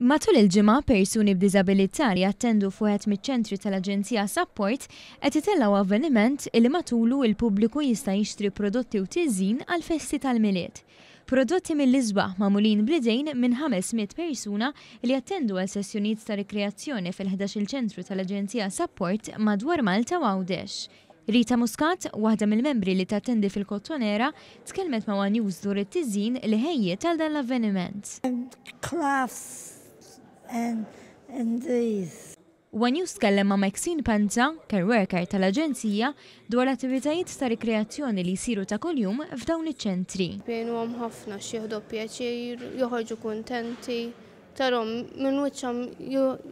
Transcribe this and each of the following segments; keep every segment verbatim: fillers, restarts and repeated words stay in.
Matul il-ġimgħa, persuni b'diżabilità li jattendu f'wieħed miċ-ċentri tal-Aġenzija Sapport qed itellgħu avveniment li matulu il-pubbliku jista' jixtri prodotti u tiżjin għall-festi tal-Milied. Prodotti mill-isbaħ magħmulin bl-idejn minn ħames mitt persuna li jattendu għal sessjonijiet ta' rikreazzjoni fil-ħdax-il ċentru tal-Aġenzija Sapport madwar Malta u Għawdex. Rita Muscat, waħda mill-membri li tattendi fil-Kottonera, tkellmet ma' One News dwar it-tiżjin li ħejjiet għal dan l-avveniment. And crafts and, and these. One News tkellem ma' Maxine Panza, care worker tal-Aġenzija, dwar l-attivitajiet ta' rikreazzjoni li jsiru ta' kuljum f'dawn iċ-ċentri. Jgħinuhom ħafna x'jieħdu pjaċir, joħorġu kuntenti, tarahom minn wiċċhom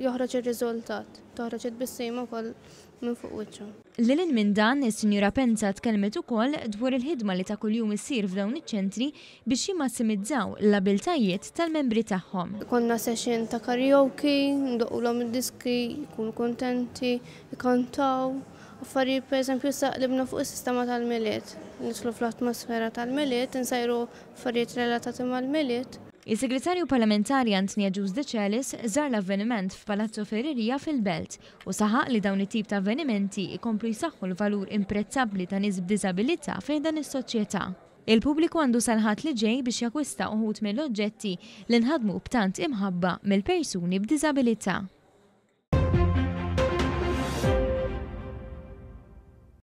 joħroġ ir-riżultat, toħroġ it-tbissima wkoll minn fuq wiċċhom. Lil hinn minn dan, is-Sinjura Penza tkellmet ukoll dwar il-ħidma li ta' kuljum issir f'dawn iċ-ċentri biex jimmassimizzaw l-abiltajiet tal-membri tagħhom. Konna session ta' karaoke, ndoqqulhom id-diski, jkunu kontenti, jkantaw. Affarijiet, pereżempju, issa qlibna fuq is-sistema tal-Milied. Nidħlu fl-atmosfera tal-Milied, insajru affarijiet relatati mal-Milied. Il-Segretarju Parlamentari Anthony Agius Decelis żar l-avveniment f'Palazzo Ferreria fil-Belt u saħaq li dawn it-tip ta' avvenimenti ikomplu jsaħħu l-valur imprezzabbli ta' nies b'diżabilità fi dan is-soċjetà. Il-pubbliku għandu sal-Ħadd li ġej biex jakkwista uħud mill-oġġetti li nħadmu b'tant imħabba mill-persuni b'diżabilità.